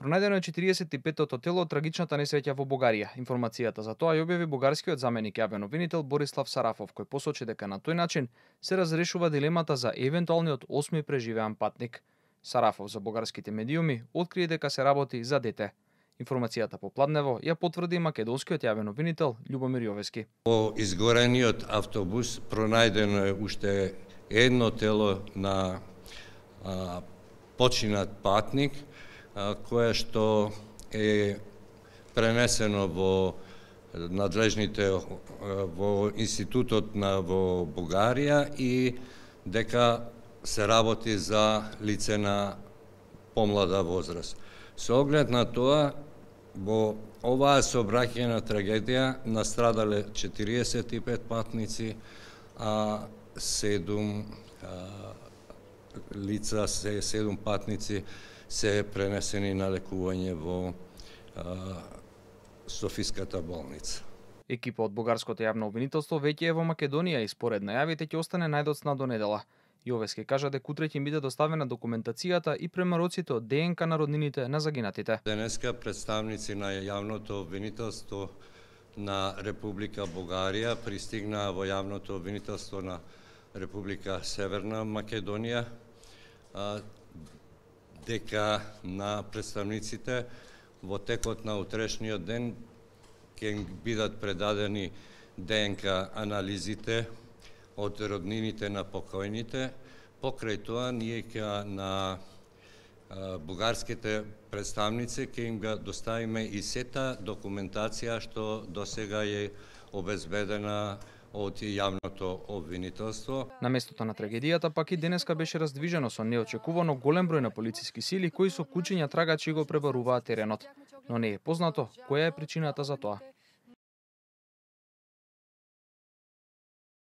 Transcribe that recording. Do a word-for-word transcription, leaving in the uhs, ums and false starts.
Пронајдено е четириесет и петтото тело од трагичната несреќа во Бугарија. Информацијата за тоа ја објави бугарскиот заменик јавен обвинител Борислав Сарафов, кој посочи дека на тој начин се разрешува дилемата за евентуалниот осми преживеан патник. Сарафов за бугарските медиуми открие дека се работи за дете. Информацијата попладнево ја потврди македонскиот јавен обвинител Љубомир Јовески. По изгорениот автобус пронајдено е уште едно тело на а, починат патник, а, кое што е пренесено во надлежните во институтот на во Бугарија и дека се работи за лице на помлада возраст. Со оглед на тоа, во оваа сообраќајна трагедија настрадале четириесет и пет патници, а седум а, лица, се седум патници се пренесени на лекување во а, Софиската болница. Екипа од бугарското јавно обвинителство веќе е во Македонија и според најавите ќе остане најдоцна до недела. Јовески кажа дека утре ќе биде доставена документацијата и премароците од ДНК на роднините на загинатите. Денеска представници на јавното обвинителство на Република Бугарија пристигнаа во јавното обвинителство на Република Северна Македонија, дека на представниците во текот на утрешниот ден ќе бидат предадени ДНК анализите од роднините на покојните. Покрај тоа, ние ќе на бугарските представници ќе им ga доставиме и сета документација што досега е обезбедена од јавното обвинителство. На местото на трагедијата пак и денеска беше раздвижено со неочекувано голем број на полициски сили кои со кучиња трагачи го пребаруваат теренот, но не е познато која е причината за тоа.